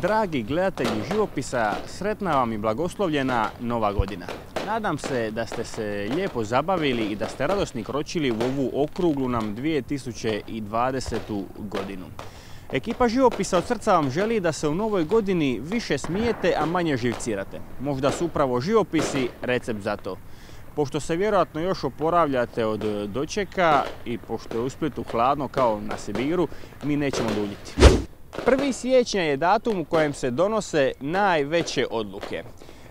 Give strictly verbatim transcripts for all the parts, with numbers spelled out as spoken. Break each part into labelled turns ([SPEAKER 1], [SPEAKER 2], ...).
[SPEAKER 1] Dragi gledatelji živopisa, sretna vam i blagoslovljena Nova godina. Nadam se da ste se lijepo zabavili i da ste radosni kročili u ovu okruglu nam dvije tisuće dvadesetu godinu. Ekipa živopisa od srca vam želi da se u novoj godini više smijete, a manje živcirate. Možda su upravo živopisi recept za to. Pošto se vjerojatno još oporavljate od dočeka i pošto je u Splitu hladno kao na Sibiru, mi nećemo duljiti. prvi siječnja je datum u kojem se donose najveće odluke.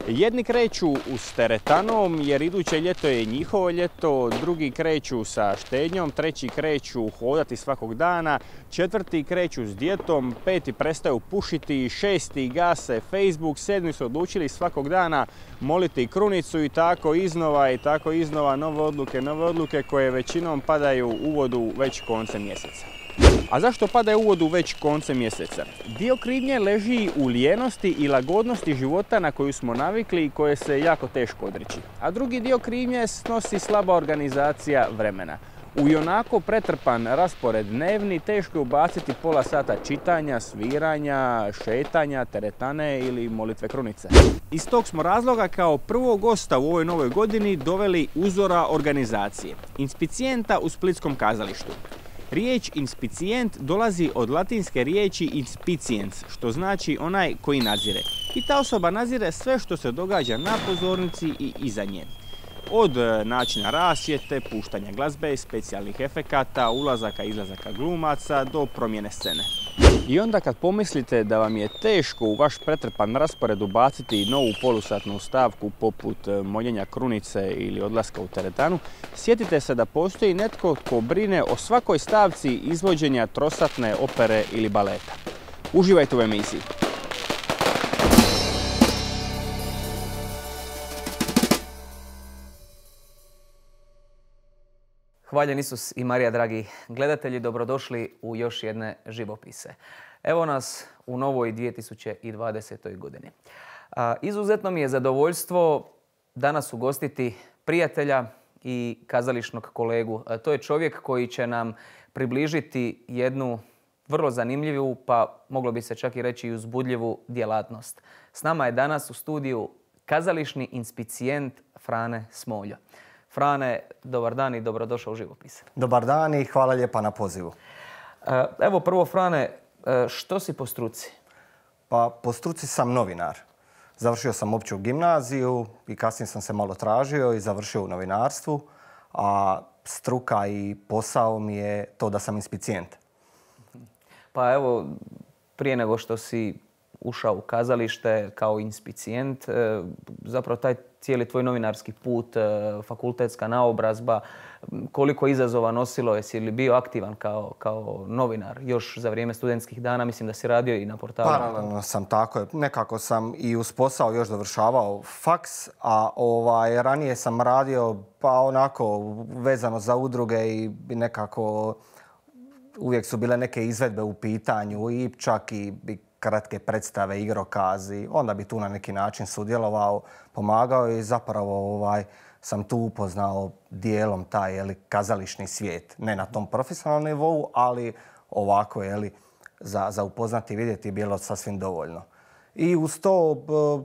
[SPEAKER 1] Jedni kreću s teretanom jer iduće ljeto je njihovo ljeto, drugi kreću sa štednjom, treći kreću hodati svakog dana, četvrti kreću s dijetom, peti prestaju pušiti, šesti gase Facebook, sedmi su odlučili svakog dana moliti krunicu i tako iznova i tako iznova nove odluke, nove odluke koje većinom padaju u vodu već koncem mjeseca. A zašto padaju u vodu već koncem mjeseca? Dio krivnje leži u lijenosti i lagodnosti života na koju smo navikli i koje se jako teško odreći. A drugi dio krivnje snosi slaba organizacija vremena. U ionako pretrpan raspored dnevni teško je ubaciti pola sata čitanja, sviranja, šetanja, teretane ili molitve krunice. Iz tog smo razloga kao prvog gosta u ovoj novoj godini doveli uzora organizacije, inspicijenta u Splitskom kazalištu. Riječ inspicijent dolazi od latinske riječi inspiciens, što znači onaj koji nadzire. I ta osoba nadzire sve što se događa na pozornici i iza nje. Od načina rasvjete, puštanja glazbe, specijalnih efekata, ulazaka i izlazaka glumaca do promjene scene. I onda kad pomislite da vam je teško u vaš pretrpan raspored ubaciti novu polusatnu stavku poput moljenja krunice ili odlaska u teretanu, sjetite se da postoji netko tko brine o svakoj stavci izvođenja trosatne opere ili baleta. Uživajte u emisiji.
[SPEAKER 2] Hvaljen Isus i Marija, dragi gledatelji, dobrodošli u još jedne živopise. Evo nas u novoj dvije tisuće dvadesetoj godini. A, izuzetno mi je zadovoljstvo danas ugostiti prijatelja i kazališnog kolegu. A, to je čovjek koji će nam približiti jednu vrlo zanimljivu, pa moglo bi se čak i reći i uzbudljivu djelatnost. S nama je danas u studiju kazališni inspicijent Frane Smoljo. Frane, dobar dan i dobrodošao u živopise.
[SPEAKER 3] Dobar dan i hvala lijepa na pozivu.
[SPEAKER 2] Evo prvo, Frane, što si po struci?
[SPEAKER 3] Pa po struci sam novinar. Završio sam opću gimnaziju i kasnije sam se malo tražio i završio u novinarstvu, a struka i posao mi je to da sam inspicijent.
[SPEAKER 2] Pa evo, prije nego što si ušao u kazalište kao inspicijent, zapravo taj cijeli tvoj novinarski put, fakultetska naobrazba, koliko izazova nosilo, jesi li bio aktivan kao, kao novinar još za vrijeme studentskih dana? Mislim da si radio i na portalu.
[SPEAKER 3] Paralelno sam, tako je. Nekako sam i uz posao još dovršavao faks, a ovaj, ranije sam radio pa onako vezano za udruge i nekako uvijek su bile neke izvedbe u pitanju i čak i kratke predstave, igrokazi. Onda bi tu na neki način sudjelovao, pomagao i zapravo ovaj, sam tu upoznao dijelom taj jeli, kazališni svijet. Ne na tom profesionalnom nivou, ali ovako jeli, za, za upoznati i vidjeti je bilo sasvim dovoljno. I uz to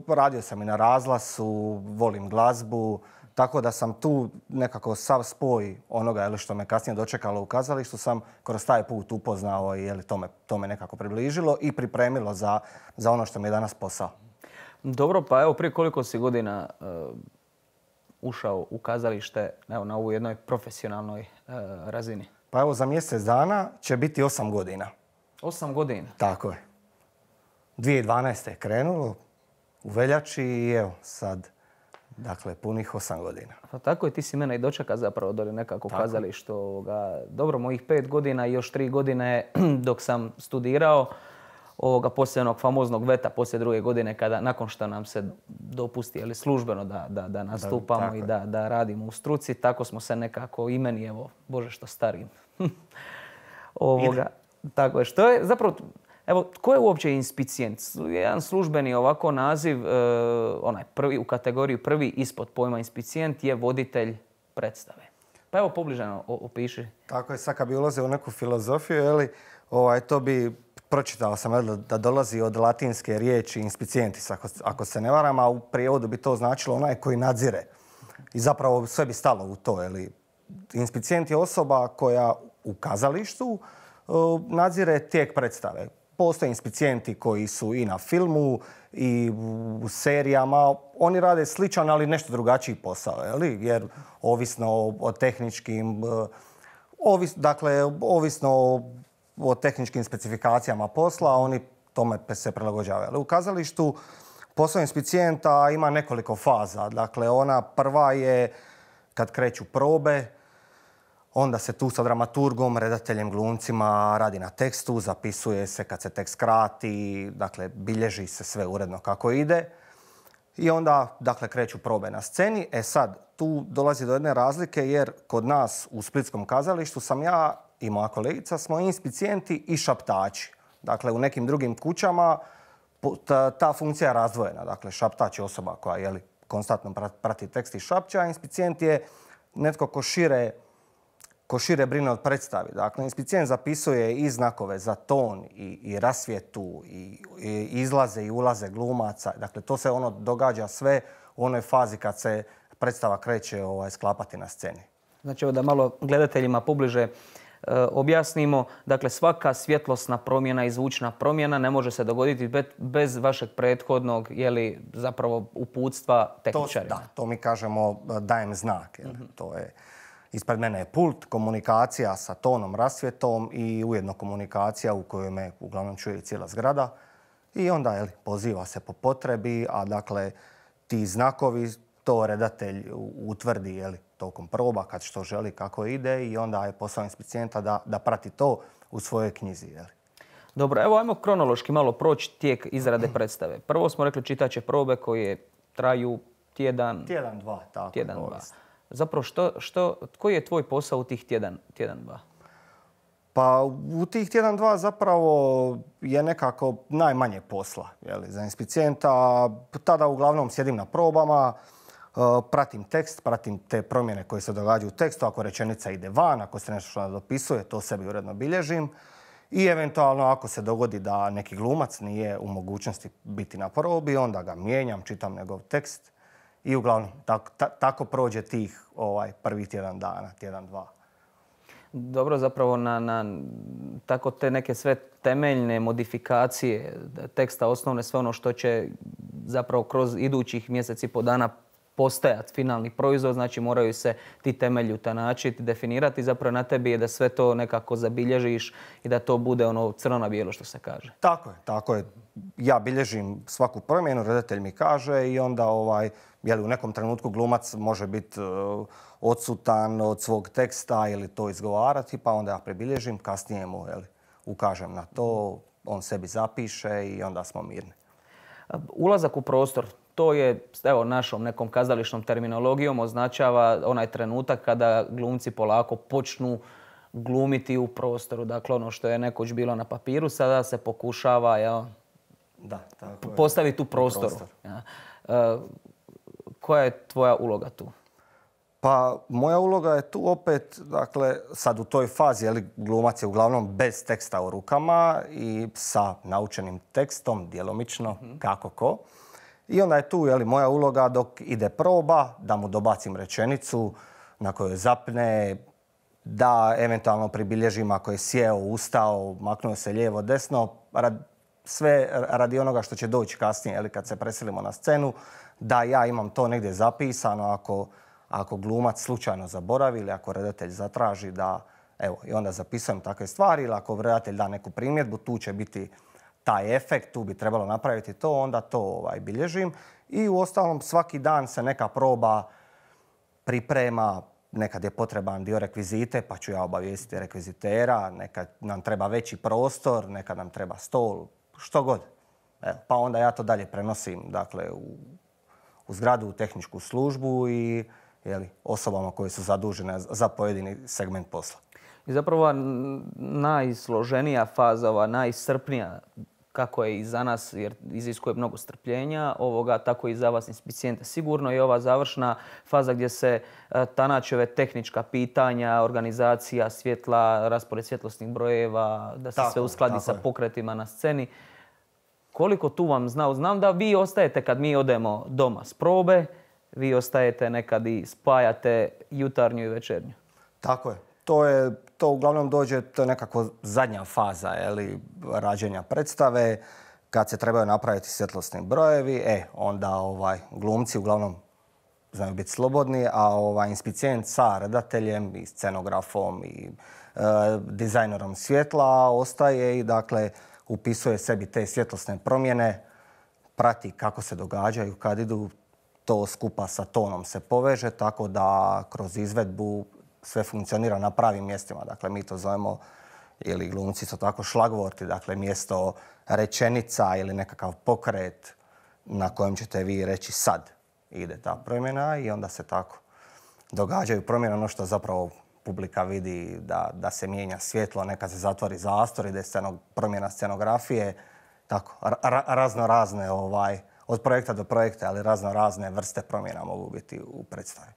[SPEAKER 3] radio sam i na razglasu, volim glazbu, tako da sam tu nekako sav spoj onoga jeli, što me kasnije dočekalo u kazalištu sam kroz taj put upoznao i jeli, to, me, to me nekako približilo i pripremilo za, za ono što mi je danas posao.
[SPEAKER 2] Dobro, pa evo prije koliko si godina uh, ušao u kazalište, evo, na ovoj jednoj profesionalnoj uh, razini?
[SPEAKER 3] Pa evo za mjesec dana će biti osam godina.
[SPEAKER 2] Osam godina?
[SPEAKER 3] Tako je. dvije tisuće dvanaeste je krenulo u veljači i evo sad... Dakle, punih osam godina.
[SPEAKER 2] Pa tako je, ti si mene i dočeka zapravo dole nekako u kazalištu. Ovoga, dobro, mojih pet godina i još tri godine dok sam studirao, ovoga, poslije onog famoznog veta, poslije druge godine, kada nakon što nam se dopusti ali službeno da, da, da nastupamo da, i da, da radimo u struci, tako smo se nekako i meni, evo, Bože što starim. Ovoga, tako je, što je zapravo... Evo, tko je uopće inspicijent? Jedan službeni ovako naziv, e, onaj prvi, u kategoriji prvi ispod pojma inspicijent je voditelj predstave. Pa evo, pobližano opiši.
[SPEAKER 3] Tako je, sad kad bi ulazio u neku filozofiju, jeli, ovaj, to bi pročitao sam da dolazi od latinske riječi inspicientis, ako, ako se ne varam, a u prijevodu bi to značilo onaj koji nadzire. I zapravo sve bi stalo u to. Jeli. Inspicijent je osoba koja u kazalištu nadzire tijek predstave. Postoje inspicijenti koji su i na filmu i u serijama. Oni rade sličan, ali nešto drugačiji posao. Jeli? Jer ovisno o, o tehničkim... Ovis, dakle, ovisno o, o tehničkim specifikacijama posla, oni tome se prilagođavaju. Ali u kazalištu posao inspicijenta ima nekoliko faza. Dakle, ona prva je kad kreću probe, onda se tu sa dramaturgom, redateljem, glumcima radi na tekstu, zapisuje se kad se tekst krati, dakle, bilježi se sve uredno kako ide. I onda, dakle, kreću probe na sceni. E sad, tu dolazi do jedne razlike jer kod nas u splitskom kazalištu sam ja i moja kolegica smo inspicijenti i šaptači. Dakle, u nekim drugim kućama ta, ta funkcija je razdvojena. Dakle, šaptač je osoba koja jeli, konstantno prati tekst i šapća, a inspicijent je netko ko šire, ko šire brine od predstavi. Dakle, inspicijent zapisuje i znakove za ton i, i rasvjetu i, i izlaze i ulaze glumaca. Dakle, to se ono događa sve u onoj fazi kad se predstava kreće ovaj, sklapati na sceni.
[SPEAKER 2] Znači, da malo gledateljima pobliže e, objasnimo. Dakle, svaka svjetlosna promjena i zvučna promjena ne može se dogoditi bez, bez vašeg prethodnog, jeli, zapravo uputstva tehničarima.
[SPEAKER 3] To, da, to mi kažemo dajem znak. Jel? Mm-hmm. To je, ispred mene je pult, komunikacija sa tonom, rasvjetom i ujedno komunikacija u kojoj me uglavnom čuje cijela zgrada. I onda jeli, poziva se po potrebi, a dakle ti znakovi to redatelj utvrdi jeli, tokom proba kad što želi, kako ide i onda je posao inspicijenta da, da prati to u svojoj knjizi. Jeli.
[SPEAKER 2] Dobro, evo ajmo kronološki malo proći tijek izrade predstave. Prvo smo rekli čitaće probe koje traju tjedan...
[SPEAKER 3] Tjedan, dva, tako.
[SPEAKER 2] Tjedan, dva. Zapravo, što, što, koji je tvoj posao u tih tjedan, tjedan, dva?
[SPEAKER 3] Pa u tih tjedan, dva zapravo je nekako najmanje posla. Jeli, za inspicijenta tada uglavnom sjedim na probama, pratim tekst, pratim te promjene koje se događaju u tekstu. Ako rečenica ide van, ako se nešto što dopisuje, to sebi uredno bilježim. I eventualno ako se dogodi da neki glumac nije u mogućnosti biti na probi, onda ga mijenjam, čitam njegov tekst. I uglavnom tako, ta, tako prođe tih ovaj, prvih tjedan dana, tjedan, dva.
[SPEAKER 2] Dobro, zapravo na, na tako te neke sve temeljne modifikacije teksta, osnovne, sve ono što će zapravo kroz idućih mjeseci i po dana postajati finalni proizvod, znači moraju se ti temelji utanačiti, definirati. Zapravo na tebi je da sve to nekako zabilježiš i da to bude ono crno na bijelo što se kaže.
[SPEAKER 3] Tako je, tako je. Ja bilježim svaku promjenu, redatelj mi kaže i onda ovaj, jeli, u nekom trenutku glumac može biti uh, odsutan od svog teksta ili to izgovarati, pa onda ja prebilježim, kasnije mu jeli, ukažem na to, on sebi zapiše i onda smo mirni.
[SPEAKER 2] Ulazak u prostor. To je, evo, našom nekom kazališnom terminologijom označava onaj trenutak kada glumci polako počnu glumiti u prostoru. Dakle, ono što je nekoć bilo na papiru, sada se pokušava jel,
[SPEAKER 3] da, tako
[SPEAKER 2] postaviti u prostoru. Prostor. Ja. E, koja je tvoja uloga tu?
[SPEAKER 3] Pa, moja uloga je tu opet, dakle, sad u toj fazi, jeli, glumac je uglavnom bez teksta u rukama i sa naučenim tekstom, djelomično, mm-hmm. kako ko. I onda je tu jeli, moja uloga dok ide proba, da mu dobacim rečenicu na kojoj zapne, da eventualno pribilježim ako je sjeo, ustao, maknuo se lijevo, desno, rad, sve radi onoga što će doći kasnije, jeli, kad se preselimo na scenu, da ja imam to negdje zapisano ako, ako glumac slučajno zaboravi ili ako redatelj zatraži da, evo, i onda zapisujem takve stvari ili ako redatelj da neku primjedbu, tu će biti taj efekt, tu bi trebalo napraviti to, onda to ovaj, bilježim. I u ostalom svaki dan se neka proba priprema, nekad je potreban dio rekvizite, pa ću ja obavijestiti rekvizitera, nekad nam treba veći prostor, nekad nam treba stol, što god. Evo, pa onda ja to dalje prenosim dakle, u, u zgradu, u tehničku službu i jeli, osobama koje su zadužene za pojedini segment posla.
[SPEAKER 2] I zapravo najsloženija faza, ova najiscrpnija kako je i za nas, jer iziskuje mnogo strpljenja, ovoga, tako i za vas inspicijente. Sigurno i ova završna faza gdje se tanači ove tehnička pitanja, organizacija svjetla, raspored svjetlosnih brojeva, da se tako, sve uskladi sa pokretima na sceni. Koliko tu vam znao? Znam da vi ostajete kad mi odemo doma s probe, vi ostajete nekad i spajate jutarnju i večernju.
[SPEAKER 3] Tako je. To, je, to uglavnom dođe, to je nekako zadnja faza jeli, rađenja predstave. Kad se trebaju napraviti svjetlosni brojevi, e, onda ovaj, glumci uglavnom znaju biti slobodni, a ovaj, inspicijent sa redateljem i scenografom i e, dizajnerom svjetla ostaje i dakle upisuje sebi te svjetlosne promjene, prati kako se događaju, kad idu, to skupa sa tonom se poveže, tako da kroz izvedbu sve funkcionira na pravim mjestima. Dakle, mi to zovemo, ili glumci su tako šlagvorti, dakle mjesto rečenica ili nekakav pokret na kojem ćete vi reći sad ide ta promjena i onda se tako događaju promjene. Ono što zapravo publika vidi da, da se mijenja svjetlo, nekad se zatvori zastor, ide sceno, promjena scenografije, tako, ra, razno razne, ovaj, od projekta do projekta, ali razno razne vrste promjena mogu biti u predstavi.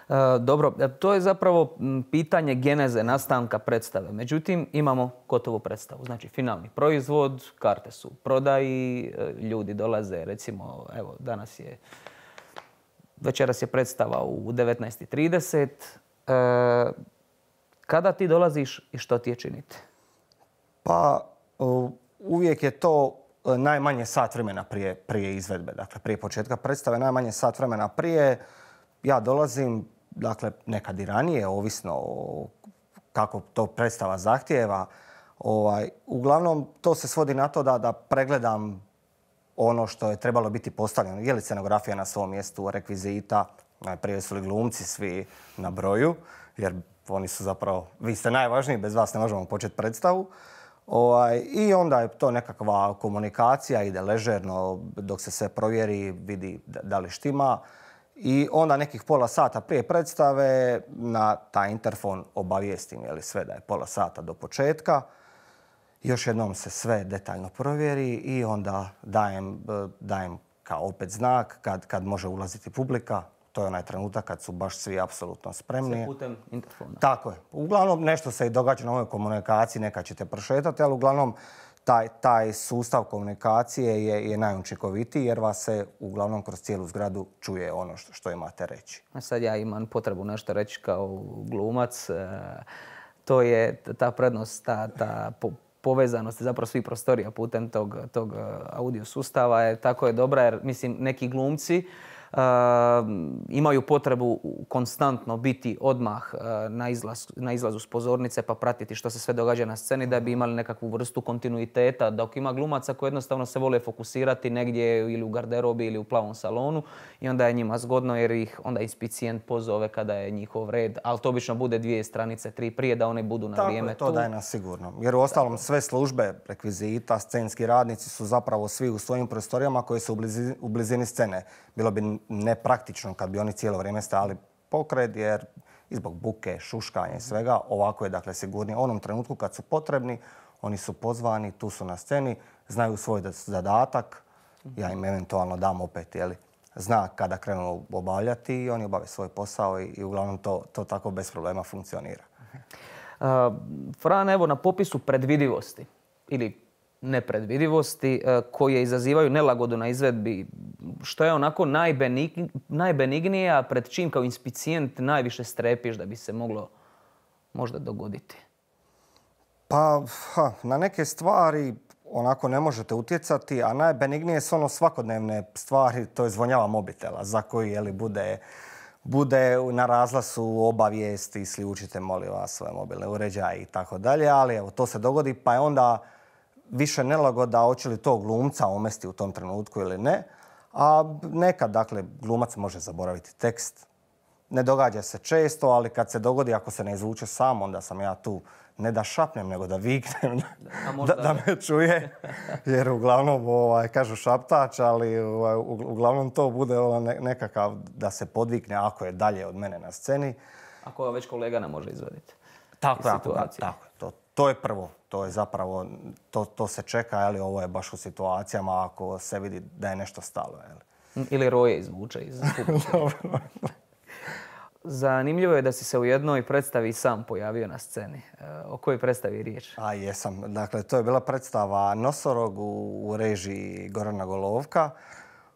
[SPEAKER 2] E, dobro, to je zapravo pitanje geneze nastanka predstave. Međutim, imamo gotovu predstavu. Znači, finalni proizvod, karte su u prodaji, ljudi dolaze, recimo, evo, danas je, večeras je predstava u devetnaest i trideset. E, kada ti dolaziš i što ti je činiti?
[SPEAKER 3] Pa, uvijek je to najmanje sat vremena prije, prije izvedbe. Dakle, prije početka predstave, najmanje sat vremena prije. Ja dolazim, dakle, nekad i ranije, ovisno o kako to predstava zahtijeva. Ovaj, uglavnom, to se svodi na to da, da pregledam ono što je trebalo biti postavljeno. Je li scenografija na svom mjestu, rekvizita, najprije su li glumci svi na broju, jer oni su zapravo, vi ste najvažniji, bez vas ne možemo početi predstavu. Ovaj, I onda je to nekakva komunikacija, ide ležerno dok se sve provjeri, vidi da li štima. I onda nekih pola sata prije predstave na taj interfon obavijestim je li sve da je pola sata do početka. Još jednom se sve detaljno provjeri i onda dajem, dajem kao opet znak kad, kad može ulaziti publika. To je onaj trenutak kad su baš svi apsolutno spremni.
[SPEAKER 2] Sve putem interfona.
[SPEAKER 3] Tako je. Uglavnom nešto se i događa na ovoj komunikaciji, nekad ćete prošetati, ali uglavnom taj, taj sustav komunikacije je, je najučinkovitiji jer vas se uglavnom kroz cijelu zgradu čuje ono što, što imate reći.
[SPEAKER 2] A sad ja imam potrebu nešto reći kao glumac. To je ta prednost, ta, ta po, povezanost zapravo svih prostorija putem tog, tog audio sustava je tako je dobra jer mislim neki glumci Uh, imaju potrebu konstantno biti odmah uh, na, izlaz, na izlazu s pozornice pa pratiti što se sve događa na sceni da bi imali nekakvu vrstu kontinuiteta. Dok ima glumaca koji jednostavno se vole fokusirati negdje ili u garderobi ili u plavom salonu i onda je njima zgodno jer ih onda inspicijent pozove kada je njihov red. Ali to obično bude dvije stranice, tri prije da oni budu na
[SPEAKER 3] Tako
[SPEAKER 2] vrijeme
[SPEAKER 3] je, to
[SPEAKER 2] tu.
[SPEAKER 3] daje nas sigurno. Jer u ostalom sve službe, rekvizita, scenski radnici su zapravo svi u svojim prostorijama koji su u blizini, u blizini scene. Bilo bi nepraktično kad bi oni cijelo vrijeme stajali pokret jer i zbog buke, šuškanja i svega ovako je dakle sigurnije. U onom trenutku kad su potrebni, oni su pozvani, tu su na sceni, znaju svoj zadatak, ja im eventualno dam opet jeli, znak kada krenu obavljati i oni obave svoj posao i, i uglavnom to, to tako bez problema funkcionira.
[SPEAKER 2] Uh, Fran, evo na popisu predvidivosti ili nepredvidivosti koje izazivaju nelagodu na izvedbi, što je onako najbenig, najbenignije, a pred čim kao inspicijent najviše strepiš da bi se moglo možda dogoditi?
[SPEAKER 3] Pa, ha, na neke stvari onako ne možete utjecati, a najbenignije su ono svakodnevne stvari, to je zvonjava mobitela za koji jeli, bude, bude na razlasu obavijesti, isključite molim vas svoje mobilne uređaje i tako dalje, ali evo to se dogodi pa je onda više nelagoda hoće li to glumca omesti u tom trenutku ili ne. A nekad, dakle, glumac može zaboraviti tekst. Ne događa se često, ali kad se dogodi, ako se ne izvuče sam, onda sam ja tu ne da šapnem, nego da viknem, da, da me čuje. Jer uglavnom, ovaj, kažu šaptač, ali ovaj, uglavnom to bude ovaj, nekakav da se podvikne ako je dalje od mene na sceni.
[SPEAKER 2] Ako već kolega ne može izvaditi.
[SPEAKER 3] Tako, tako, tako. To, to je prvo. To je zapravo, to, to se čeka, ali ovo je baš u situacijama ako se vidi da je nešto stalo. Jeli.
[SPEAKER 2] Ili roje izvuče iz Zanimljivo je da si se u jednoj predstavi sam pojavio na sceni. O kojoj predstavi je riječ?
[SPEAKER 3] A jesam. Dakle, to je bila predstava Nosorog u, u režiji Gorana Golovka.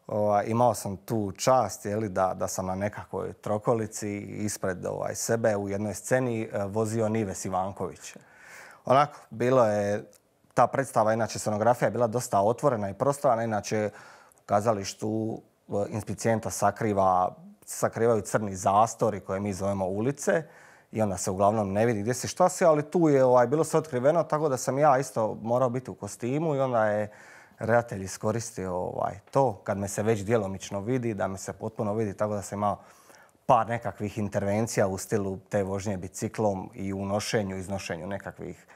[SPEAKER 3] O, imao sam tu čast jeli, da, da sam na nekakvoj trokolici ispred ovaj, sebe u jednoj sceni vozio Nives Ivanković. Onako, bilo je, ta predstava, inače scenografija je bila dosta otvorena i prostorana, inače u kazalištu inspicijenta sakriva, sakrivaju crni zastori koje mi zovemo ulice i onda se uglavnom ne vidi gdje si šta si, ali tu je ovaj, bilo sve otkriveno, tako da sam ja isto morao biti u kostimu i onda je redatelj iskoristio ovaj, to kad me se već djelomično vidi, da me se potpuno vidi, tako da sam imao par nekakvih intervencija u stilu te vožnje biciklom i u nošenju, iznošenju nekakvih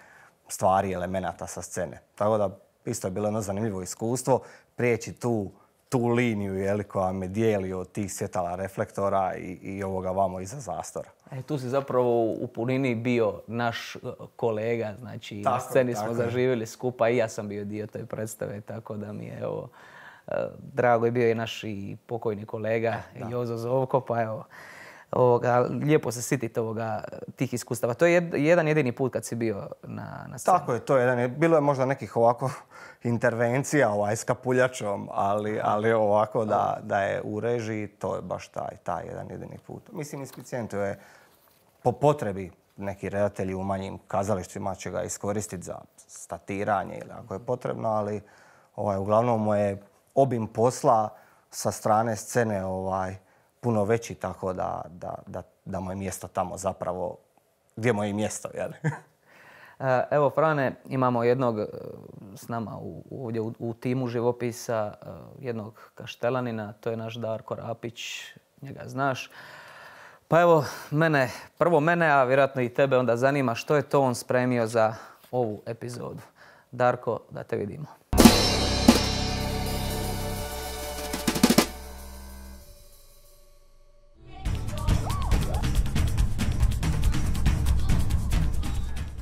[SPEAKER 3] stvari, elemenata sa scene. Tako da isto je bilo jedno zanimljivo iskustvo prijeći tu, tu liniju jeli, koja me dijeli od tih svjetala reflektora i, i ovoga vamo iza zastora.
[SPEAKER 2] E, tu si zapravo u punini bio naš kolega, znači tako, na sceni smo zaživjeli skupa i ja sam bio dio te predstave, tako da mi je evo, drago je bio i naš i pokojni kolega da. Jozo Zovko, pa evo, ovoga, lijepo se sititi ovoga, tih iskustava. To je jed, jedan jedini put kad si bio na, na sceni.
[SPEAKER 3] Tako je, to je jedan. Bilo je možda nekih ovako intervencija ovaj, s kapuljačom, ali, ali ovako da, da je u režiji, to je baš taj, taj jedan jedini put. Mislim, inspicijentu je po potrebi neki redatelji u manjim kazalištima će ga iskoristiti za statiranje ili ako je potrebno, ali ovaj, uglavnom mu je obim posla sa strane scene ovaj, puno veći, tako da, da, da, da mu je mjesto tamo zapravo gdje mu je mjesto. Jel?
[SPEAKER 2] Evo, Frane, imamo jednog s nama u, ovdje u, u timu živopisa, jednog kaštelanina, to je naš Darko Rapić, njega znaš. Pa evo, mene, prvo mene, a vjerojatno i tebe onda zanima što je to on spremio za ovu epizodu. Darko, da te vidimo.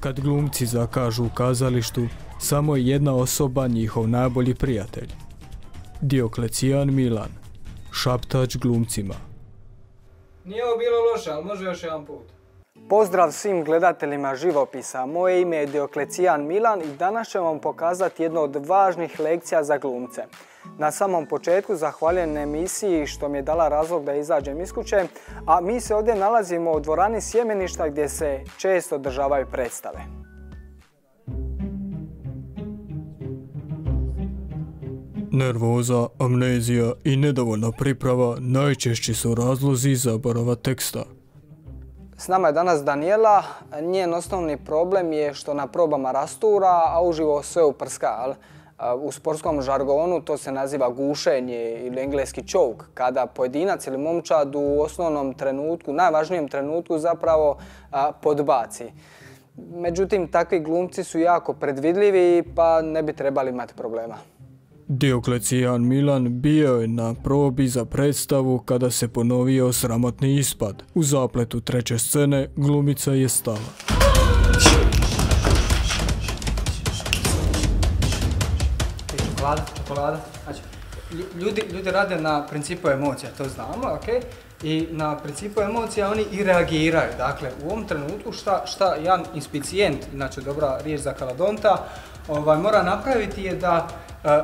[SPEAKER 4] Kad glumci zakažu u kazalištu, samo je jedna osoba njihov najbolji prijatelj. Dioklecijan Milan, šaptač glumcima.
[SPEAKER 5] Nije ovo bilo loše, ali može još jedan put.
[SPEAKER 6] Pozdrav svim gledateljima živopisa. Moje ime je Dioklecijan Milan i danas ću vam pokazati jednu od važnih lekcija za glumce. Na samom početku zahvaljujem emisiji što mi je dala razlog da izađem iz kuće, a mi se ovdje nalazimo u dvorani Sjemeništa gdje se često održavaju predstave.
[SPEAKER 4] Nervoza, amnezija i nedovoljna priprava najčešći su razlozi zaborava teksta.
[SPEAKER 6] S nama je danas Danijela. Njen osnovni problem je što na probama rastura, a uživo sve uprska. U sportskom žargonu to se naziva gušenje ili engleski choke, kada pojedinac ili momčad u osnovnom trenutku, najvažnijem trenutku zapravo podbaci. Međutim, takvi glumci su jako predvidljivi pa ne bi trebali imati problema.
[SPEAKER 4] Dioklecijan Milan bio je na probi za predstavu kada se ponovio sramotni ispad. U zapletu treće scene glumica je stala.
[SPEAKER 5] Čokolada, čokolada. Znači, ljudi, ljudi rade na principu emocija, to znamo, ok? I na principu emocija oni i reagiraju. Dakle, u ovom trenutku šta, šta jedan inspicijent, inače dobra riječ za kaladonta, ovaj, mora napraviti je da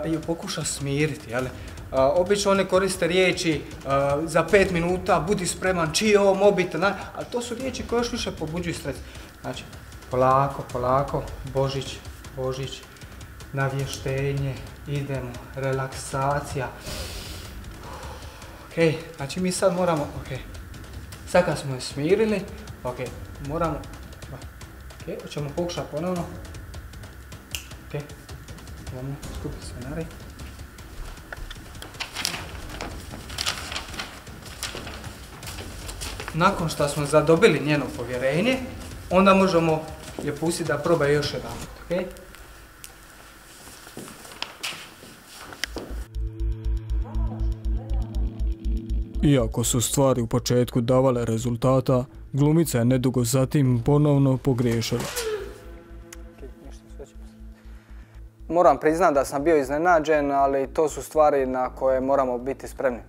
[SPEAKER 5] uh, ju pokuša smiriti. Jel? Uh, obično oni koriste riječi uh, za pet minuta, budi spreman, čiji je ovo mobitel, ali to su riječi koje još više pobuđuju stres. Znači, polako, polako, Božić, Božić, navještenje, idemo, relaksacija. Ok, znači mi sad moramo, ok, sad kad smo je smirili, ok, moramo, ok, hoćemo pokušati ponovno. Ok, idemo skupiti scenarij. Nakon što smo zadobili njeno povjerenje, onda možemo je pustiti da proba još jedan, ok?
[SPEAKER 4] Iako su stvari u početku davale rezultata, glumica je nedugo zatim ponovno pogriješila.
[SPEAKER 6] moram priznati da sam bio iznenađen, ali to su stvari na koje moramo biti spremni.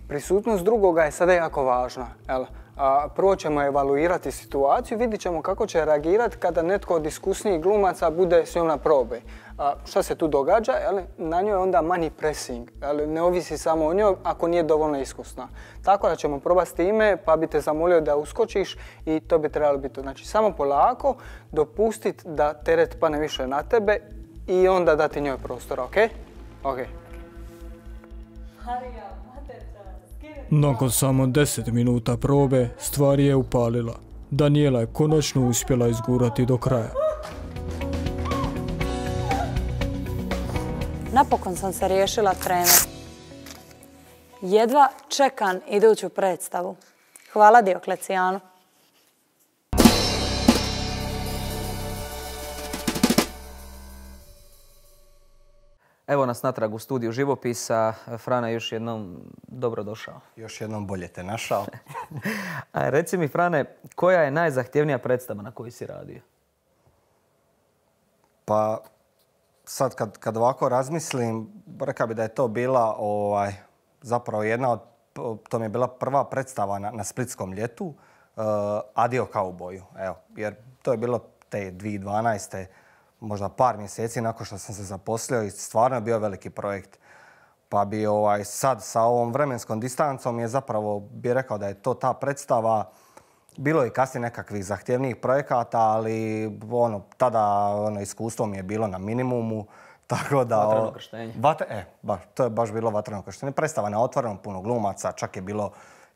[SPEAKER 6] Prisutnost drugoga je sada jako važna. Jel? A, prvo ćemo evaluirati situaciju, vidjet ćemo kako će reagirati kada netko od iskusnijih glumaca bude s njom na probi. A, šta se tu događa? Jel? Na njoj je onda manji pressing. Jel? Ne ovisi samo o njoj ako nije dovoljno iskusna. Tako da ćemo probati s time, pa bi te zamolio da uskočiš i to bi trebalo biti. Znači, samo polako dopustiti da teret pane više na tebe i onda dati njoj prostora, ok? Ok.
[SPEAKER 4] Nakon samo deset minuta probe, stvar je upalila. Daniela je konačno uspjela izgurati do kraja.
[SPEAKER 7] Napokon sam se riješila trener. Jedva čekam iduću predstavu. Hvala Dioklecijanu.
[SPEAKER 2] Evo nas natrag u studiju živopisa. Frane, još jednom dobro došao.
[SPEAKER 3] Još jednom bolje te našao.
[SPEAKER 2] A reci mi, Frane, koja je najzahtjevnija predstava na kojoj si radio?
[SPEAKER 3] Pa sad kad, kad ovako razmislim, rekao bi da je to bila ovaj, zapravo jedna od, to mi je bila prva predstava na, na Splitskom ljetu, uh, Adio kauboju. Evo, jer to je bilo te dvije tisuće dvanaeste možda par mjeseci nakon što sam se zaposlio i stvarno je bio veliki projekt. Pa bi ovaj, sad sa ovom vremenskom distancom je zapravo bi rekao da je to ta predstava. Bilo je i kasnije nekakvih zahtjevnijih projekata, ali ono, tada ono, iskustvo mi je bilo na minimumu. Tako da,
[SPEAKER 2] vatreno krštenje.
[SPEAKER 3] Vatre, e, baš, to je baš bilo vatreno krštenje. Predstava na otvorenom, puno glumaca, čak je bilo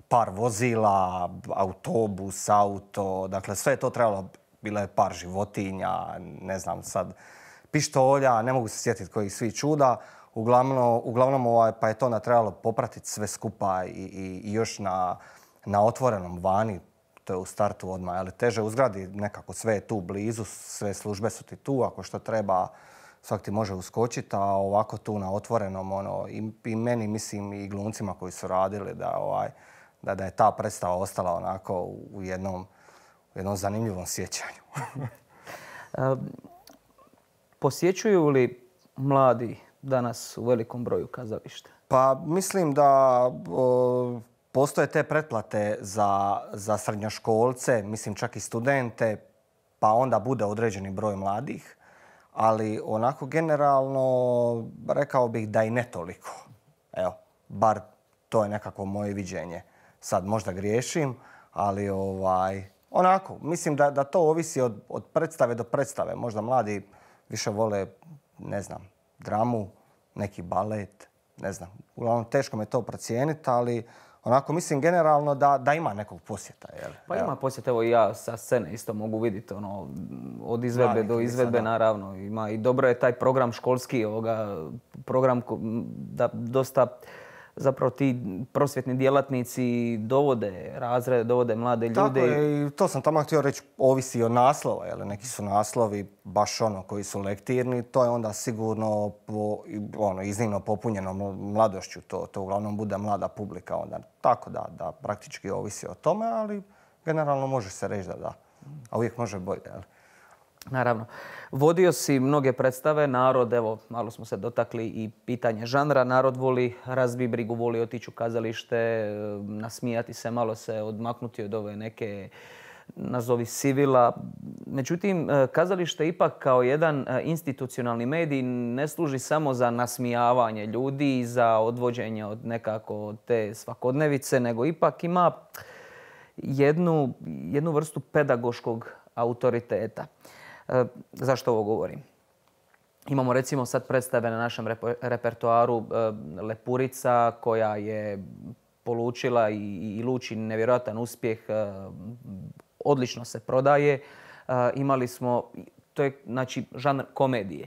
[SPEAKER 3] par vozila, autobus, auto, dakle sve je to trebalo. Bilo je par životinja, ne znam sad, pištolja, ne mogu se sjetiti kojih svih čuda. Uglavnom, uglavnom ovaj, pa je to onda trebalo popratiti sve skupa i, i, i još na, na otvorenom vani. To je u startu odmah, ali teže u zgradi nekako sve je tu blizu, sve službe su ti tu, ako što treba svak ti može uskočiti, a ovako tu na otvorenom, ono, i, i meni, mislim, i glumcima koji su radili, da, ovaj, da, da je ta predstava ostala onako u jednom, u jednom zanimljivom sjećanju.
[SPEAKER 2] Posjećuju li mladi danas u velikom broju kazalište?
[SPEAKER 3] Pa mislim da o, postoje te pretplate za, za srednjoškolce, mislim čak i studente, pa onda bude određeni broj mladih. Ali onako generalno rekao bih da i ne toliko. Evo, bar to je nekako moje viđenje. Sad možda griješim, ali ovaj, onako, mislim da, da to ovisi od, od predstave do predstave. Možda mladi više vole, ne znam, dramu, neki balet, ne znam. Uglavnom, teško me to procijeniti, ali onako mislim generalno da, da ima nekog posjeta. Jel?
[SPEAKER 2] Pa ima posjeta, evo i ja sa scene isto mogu vidjeti, ono, od izvedbe do izvedbe, naravno. Ima i dobro je taj program školski, ovoga, program da dosta zapravo ti prosvjetni djelatnici dovode razrede, dovode mlade ljude.
[SPEAKER 3] Tako je, i to sam tamo htio reći, ovisi od naslova. Jel? Neki su naslovi baš ono koji su lektirni, to je onda sigurno po, ono, iznimno popunjeno mladošću. To, to uglavnom bude mlada publika onda. Tako da, da praktički ovisi o tome, ali generalno može se reći da da. A uvijek može bolje. Jel?
[SPEAKER 2] Naravno. Vodio si mnoge predstave, narod, evo, malo smo se dotakli i pitanje žanra, narod voli razbi brigu, voli otići u kazalište, nasmijati se, malo se odmaknuti od ove neke, nazovi sivila. Međutim, kazalište ipak kao jedan institucionalni medij ne služi samo za nasmijavanje ljudi i za odvođenje od nekako te svakodnevice, nego ipak ima jednu, jednu vrstu pedagoškog autoriteta. E, zašto ovo govorim? Imamo recimo sad predstave na našem repertoaru e, Lepurica koja je polučila i, i luči nevjerojatan uspjeh, e, odlično se prodaje. E, imali smo, to je znači žanr komedije.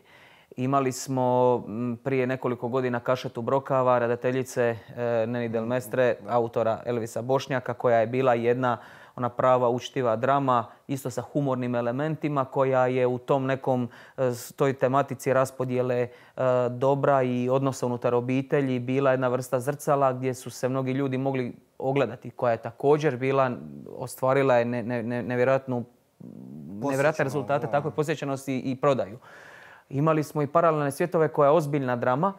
[SPEAKER 2] Imali smo prije nekoliko godina Kašetu Brokava, redateljice e, Neni Del Mestre, autora Elvisa Bošnjaka, koja je bila jedna ona prava učtiva drama, isto sa humornim elementima, koja je u tom nekom toj tematici raspodjele dobra i odnosa unutar obitelji bila jedna vrsta zrcala gdje su se mnogi ljudi mogli ogledati, koja je također bila, ostvarila je ne, ne, nevjerojatnu, nevjerojatne rezultate, tako je posjećenosti i prodaju. Imali smo i Paralelne svjetove koja je ozbiljna drama,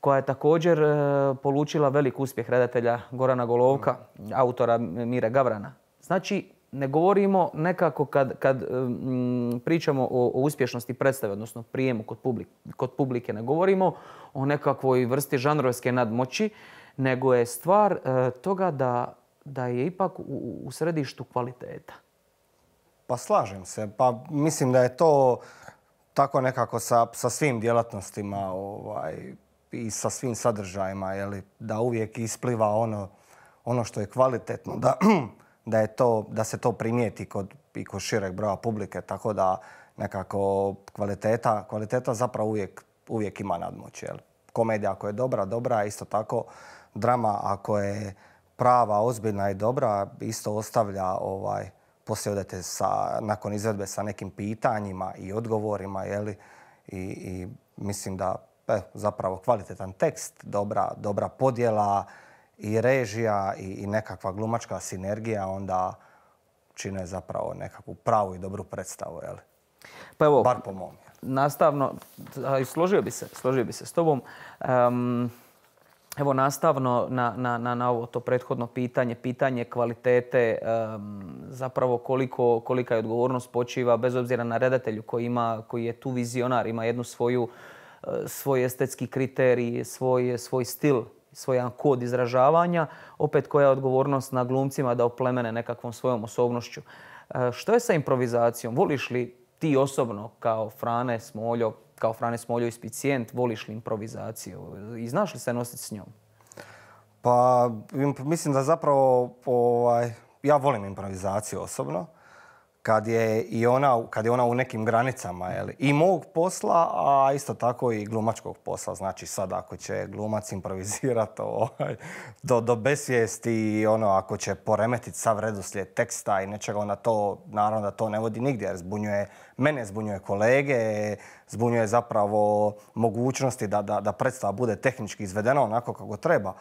[SPEAKER 2] koja je također e, polučila velik uspjeh redatelja Gorana Golovka, autora Mire Gavrana. Znači, ne govorimo nekako kad, kad mm, pričamo o, o uspješnosti predstave, odnosno prijemu kod, publik, kod publike, ne govorimo o nekakvoj vrsti žanrovske nadmoći, nego je stvar e, toga da, da je ipak u, u središtu kvaliteta.
[SPEAKER 3] Pa slažem se. Pa mislim da je to tako nekako sa, sa svim djelatnostima ovaj, i sa svim sadržajima, jeli, da uvijek ispliva ono, ono što je kvalitetno, da, da, je to, da se to primijeti kod, i kod šireg broja publike, tako da nekako kvaliteta, kvaliteta zapravo uvijek, uvijek ima nadmoć. Jeli. Komedija ako je dobra, dobra, isto tako drama ako je prava, ozbiljna i dobra, isto ostavlja ovaj, poslije odete sa, nakon izvedbe sa nekim pitanjima i odgovorima, jeli, i, i mislim da e, zapravo kvalitetan tekst, dobra, dobra podjela i režija i, i nekakva glumačka sinergija onda čine zapravo nekakvu pravu i dobru predstavu, jeli.
[SPEAKER 2] Pa evo,
[SPEAKER 3] bar po mom.
[SPEAKER 2] Nastavno, složio bi se, složio bi se s tobom. Um, Evo, nastavno na, na, na ovo to prethodno pitanje, pitanje kvalitete, um, zapravo koliko, kolika je odgovornost počiva, bez obzira na redatelju koji, ima, koji je tu vizionar, ima jednu svoju, uh, svoj estetski kriterij, svoj, svoj stil, svoj jedan kod izražavanja, opet koja je odgovornost na glumcima da oplemene nekakvom svojom osobnošću. Uh, što je sa improvizacijom? Voliš li ti osobno kao Frane Smoljo, kao Frane Smoljo inspicijent, voliš li improvizaciju i znaš li se nositi s njom?
[SPEAKER 3] Pa mislim da zapravo ovaj, ja volim improvizaciju osobno. Kad je, i ona, kad je ona u nekim granicama, jeli, i mog posla, a isto tako i glumačkog posla. Znači sad ako će glumac improvizirati ovaj, do, do besvijesti i ono, ako će poremetiti sav redoslijed teksta i nečega, onda to, naravno da to ne vodi nigdje jer zbunjuje mene, zbunjuje kolege, zbunjuje zapravo mogućnosti da, da, da predstava bude tehnički izvedena onako kako treba.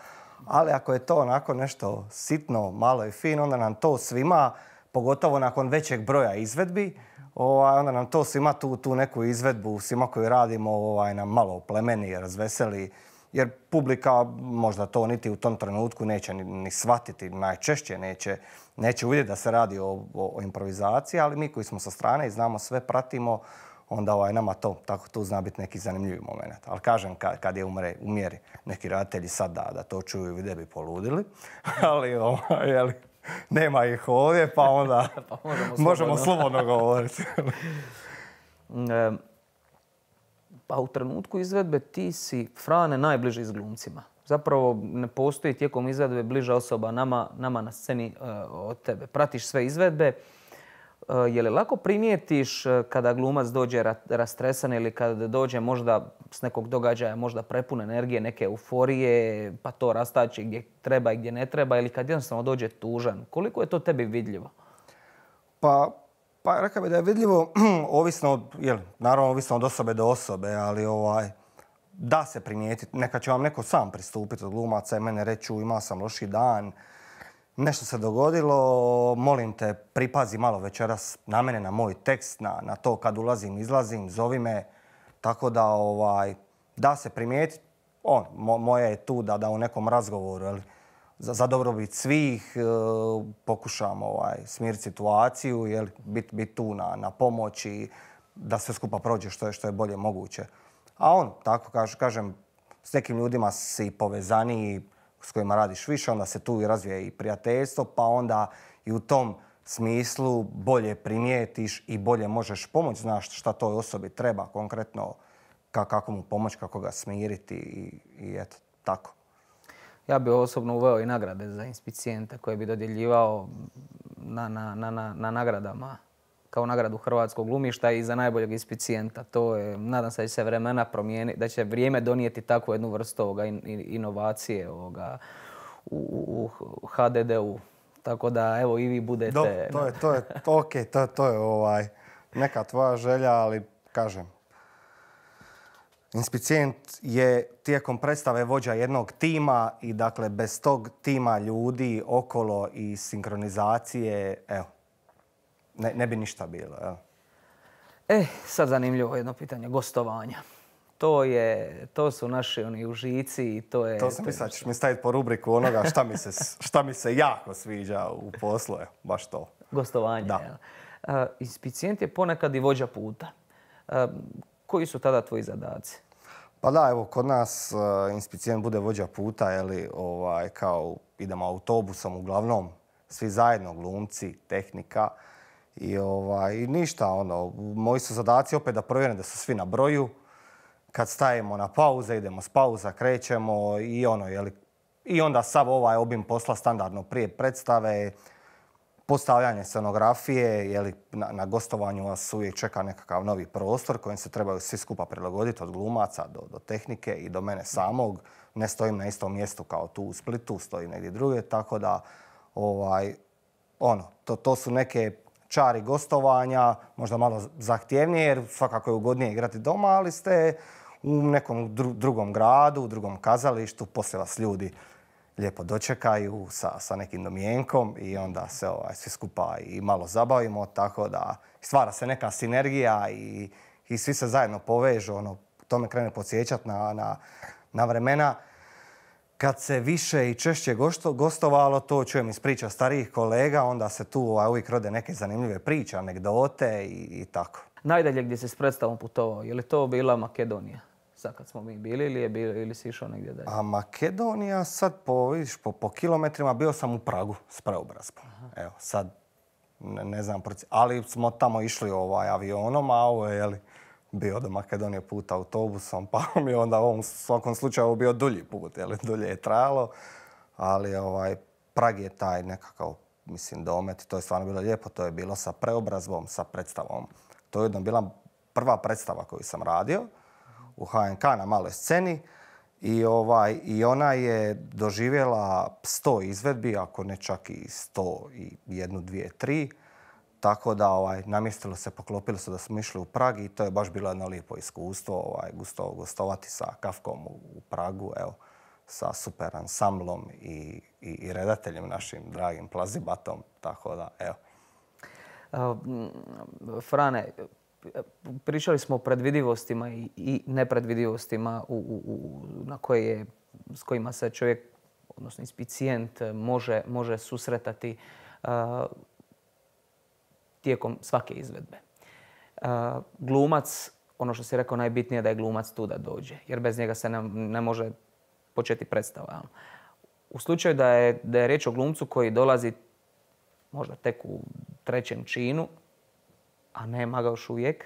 [SPEAKER 3] Ali ako je to onako nešto sitno, malo i fino, onda nam to svima, pogotovo nakon većeg broja izvedbi, ovaj, onda nam to svima tu, tu neku izvedbu, svima koju radimo, ovaj, nam malo oplemeni, razveseli. Jer publika možda to niti u tom trenutku neće ni, ni shvatiti, najčešće neće, neće vidjeti da se radi o, o, o improvizaciji, ali mi koji smo sa strane i znamo sve, pratimo, onda ovaj, nama to, tako tu zna biti neki zanimljivi moment. Ali kažem, kad, kad je umre, u mjeri neki redatelji sad da, da to čuju i vide bi poludili, ali ovaj, jeli, nema ih ovdje, pa onda pa možemo, možemo slobodno govoriti.
[SPEAKER 2] e, pa u trenutku izvedbe ti si, Frane, najbliži s glumcima. Zapravo ne postoji tijekom izvedbe bliža osoba nama, nama na sceni uh, od tebe. Pratiš sve izvedbe. Uh, je li lako primijetiš uh, kada glumac dođe ra rastresan ili kada dođe možda s nekog događaja, možda prepun energije, neke euforije, pa to rastači gdje treba i gdje ne treba, ili kad jednostavno dođe tužan? Koliko je to tebi vidljivo?
[SPEAKER 3] Pa, pa rekao bih da je vidljivo, ovisno od, jel, naravno ovisno od osobe do osobe, ali ovaj, da se primijetiti. Neka će vam neko sam pristupiti od glumaca i mene reći imao sam loši dan, nešto se dogodilo, molim te pripazi malo večeras na mene, na moj tekst, na, na to kad ulazim, izlazim, zovi me. Tako da ovaj, da se primijetiti, on, mo, moje je tu da, da u nekom razgovoru, jel, za, za dobrobit svih e, pokušam ovaj, smiriti situaciju, jel, biti bit tu na, na pomoć i da sve skupa prođe što je, što je bolje moguće. A on, tako kaž, kažem, s nekim ljudima si povezaniji, s kojima radiš više, onda se tu i razvije i prijateljstvo, pa onda i u tom smislu bolje primijetiš i bolje možeš pomoći, znaš šta toj osobi treba konkretno, kako mu pomoći, kako ga smiriti i, i eto, tako.
[SPEAKER 2] Ja bih osobno uveo i nagrade za inspicijente koje bi dodjeljivao na, na, na, na, na nagradama kao nagradu hrvatskog glumišta i za najboljeg inspicijenta. To je, nadam se da će se vremena promijeniti, da će vrijeme donijeti takvu jednu vrstu ovoga in, inovacije ovoga, u, u ha de de u. Tako da, evo, i vi budete...
[SPEAKER 3] Do, to je, to je, ok, to, to je ovaj, neka tvoja želja, ali kažem, inspicijent je tijekom predstave vođa jednog tima i dakle bez tog tima ljudi okolo i sinkronizacije, evo, ne, ne bi ništa bilo. Evo.
[SPEAKER 2] E, sad zanimljivo jedno pitanje, gostovanja. To je, to su naši oni užici i to je...
[SPEAKER 3] To sam mislila, ćeš mi staviti po rubriku onoga šta mi se, šta mi se jako sviđa u poslu, je, baš to.
[SPEAKER 2] Gostovanje,
[SPEAKER 3] Da.
[SPEAKER 2] jel? Uh, inspicijent je ponekad i vođa puta. Uh, koji su tada tvoji zadaci?
[SPEAKER 3] Pa da, evo, kod nas uh, inspicijent bude vođa puta, jeli, ovaj, kao idemo autobusom, uglavnom svi zajedno, glumci, tehnika. I, ovaj, i ništa, ono, moji su zadaci opet da provjerim da su svi na broju. Kad stajemo na pauze, idemo s pauza, krećemo i ono, jeli, i onda sav ovaj obim posla standardno prije predstave, postavljanje scenografije, jeli, na, na gostovanju vas uvijek čeka nekakav novi prostor kojem se trebaju svi skupa prilagoditi od glumaca do, do tehnike i do mene samog. Ne stojim na istom mjestu kao tu u Splitu, stojim negdje druge, tako da ovaj, ono, to, to su neke čari gostovanja, možda malo zahtjevnije jer svakako je ugodnije igrati doma, ali ste u nekom dru, drugom gradu, u drugom kazalištu, poslije vas ljudi lijepo dočekaju sa, sa nekim domjenkom i onda se ovaj, svi skupa i malo zabavimo, tako da stvara se neka sinergija i, i svi se zajedno povežu, ono, to me krene podsjećati na, na, na vremena kad se više i češće gosto, gostovalo, to čujem iz priča starijih kolega, onda se tu ovaj, uvijek rode neke zanimljive priče, anegdote i, i tako.
[SPEAKER 2] Najdalje gdje si s predstavom putovao, je li to bila Makedonija? Sad kad smo mi bili ili, je bilo, ili si išao negdje dalje?
[SPEAKER 3] A Makedonija sad po, vidiš, po, po kilometrima bio sam u Pragu s preobrazbom. Evo, sad ne, ne znam, ali smo tamo išli ovaj, avionom, a ovo je jeli, bio do Makedonije put autobusom, pa mi je onda u ovom svakom slučaju bio dulji put, jeli, dulje je trajalo, ali ovaj, Prag je taj nekakav, mislim, domet, to je stvarno bilo lijepo, to je bilo sa preobrazbom, sa predstavom. To je jedno bila prva predstava koju sam radio u H N K na maloj sceni i, ovaj, i ona je doživjela sto izvedbi, ako ne čak i sto i jednu, dvije, tri. Tako da ovaj, namjestilo se, poklopilo se da smo išli u Prag i to je baš bilo jedno lijepo iskustvo, ovaj, gusto, gostovati sa Kafkom u, u Pragu, evo, sa super ansamblom i, i, i redateljem našim dragim Plazibatom, tako da, evo.
[SPEAKER 2] Uh, Frane, pričali smo o predvidivostima i, i nepredvidivostima u, u, u, na koje je, s kojima se čovjek, odnosno inspicijent, može, može susretati uh, tijekom svake izvedbe. Uh, glumac, ono što si rekao, najbitnije je da je glumac tu da dođe, jer bez njega se ne, ne može početi predstava. U slučaju da je, da je riječ o glumcu koji dolazi možda tek u trećem činu, a nema ga još uvijek,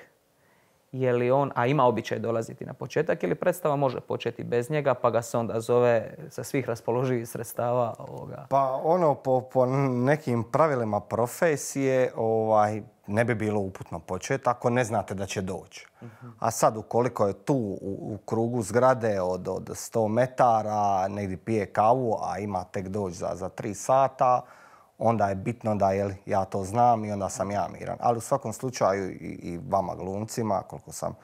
[SPEAKER 2] je li on, a ima običaj dolaziti na početak, ili predstava može početi bez njega, pa ga se onda zove sa svih raspoloživih sredstava ovoga?
[SPEAKER 3] Pa ono, po, po nekim pravilima profesije ovaj, ne bi bilo uputno početi ako ne znate da će doći. Uh-huh. A sad ukoliko je tu u, u krugu zgrade od, od sto metara, negdje pije kavu, a ima tek doći za, za tri sata, onda je bitno da jel, ja to znam i onda sam ja miran. Ali u svakom slučaju i, i vama glumcima, koliko sam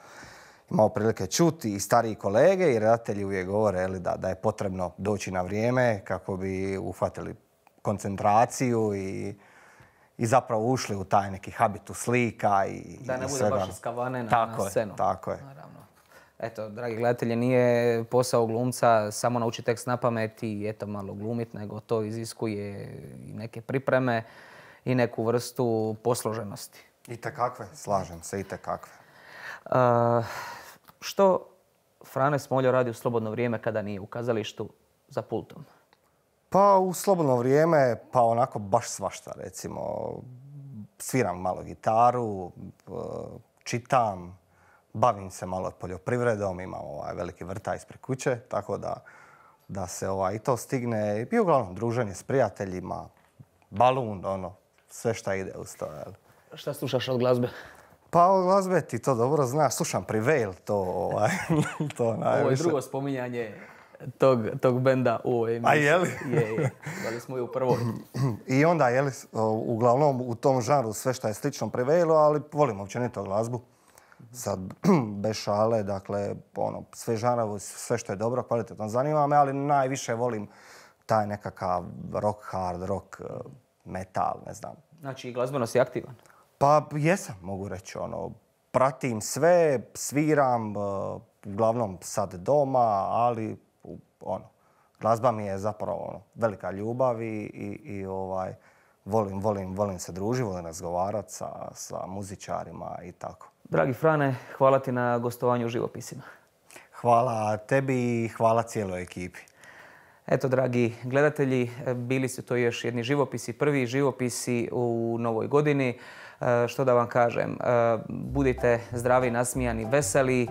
[SPEAKER 3] imao prilike čuti, i stariji kolege i redatelji uvijek govore jel, da, da je potrebno doći na vrijeme kako bi uhvatili koncentraciju i, i zapravo ušli u taj neki habitus slika. I,
[SPEAKER 2] da ne
[SPEAKER 3] i
[SPEAKER 2] bude
[SPEAKER 3] svega.
[SPEAKER 2] baš iskavane na,
[SPEAKER 3] tako
[SPEAKER 2] na scenu.
[SPEAKER 3] Je, tako je.
[SPEAKER 2] Naravno. Eto, dragi gledatelji, nije posao glumca samo naučiti tekst na pamet i eto malo glumit, nego to iziskuje i neke pripreme i neku vrstu posloženosti.
[SPEAKER 3] Itekakve, slažem se, itekakve.
[SPEAKER 2] Uh, što Frane Smoljo radi u slobodno vrijeme kada nije u kazalištu za pultom?
[SPEAKER 3] Pa u slobodno vrijeme, pa onako baš svašta, recimo. Sviram malo gitaru, čitam, bavim se malo poljoprivredom, imam ovaj veliki vrtaj ispred kuće, tako da, da se ovaj, i to stigne. I uglavnom druženje s prijateljima, balun, ono, sve šta ide uz to. Jel?
[SPEAKER 2] Šta slušaš od glazbe?
[SPEAKER 3] Pa od glazbe ti to dobro znaš, slušam Prevail, to, ovaj, to najviše.
[SPEAKER 2] Ovo je drugo spominjanje tog, tog benda u ovoj emisiji.
[SPEAKER 3] A je li?
[SPEAKER 2] Je, je. Dali smo i u prvoj.
[SPEAKER 3] I onda, je li, uglavnom u tom žanru sve šta je slično Prevailu, ali volim općenito glazbu. Sad, bez šale, dakle, ono, sve žanrovi, sve što je dobro, kvalitetno zanima me, ali najviše volim taj nekakav rock, hard rock, metal, ne znam.
[SPEAKER 2] Znači, glazbeno si aktivan?
[SPEAKER 3] Pa jesam, mogu reći, ono, pratim sve, sviram, uglavnom sad doma, ali ono, glazba mi je zapravo ono, velika ljubav i, i, i ovaj, volim, volim, volim se družiti, volim razgovarati sa, sa muzičarima i tako.
[SPEAKER 2] Dragi Frane, hvala ti na gostovanju u Živopisima.
[SPEAKER 3] Hvala tebi i hvala cijeloj ekipi.
[SPEAKER 2] Eto, dragi gledatelji, bili su to još jedni živopisi, prvi živopisi u novoj godini. Što da vam kažem, budite zdravi, nasmijani, veseli.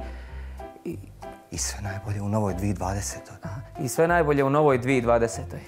[SPEAKER 3] I sve najbolje u novoj dvije tisuće dvadesetoj.
[SPEAKER 2] I sve najbolje u novoj dvije tisuće dvadesetoj.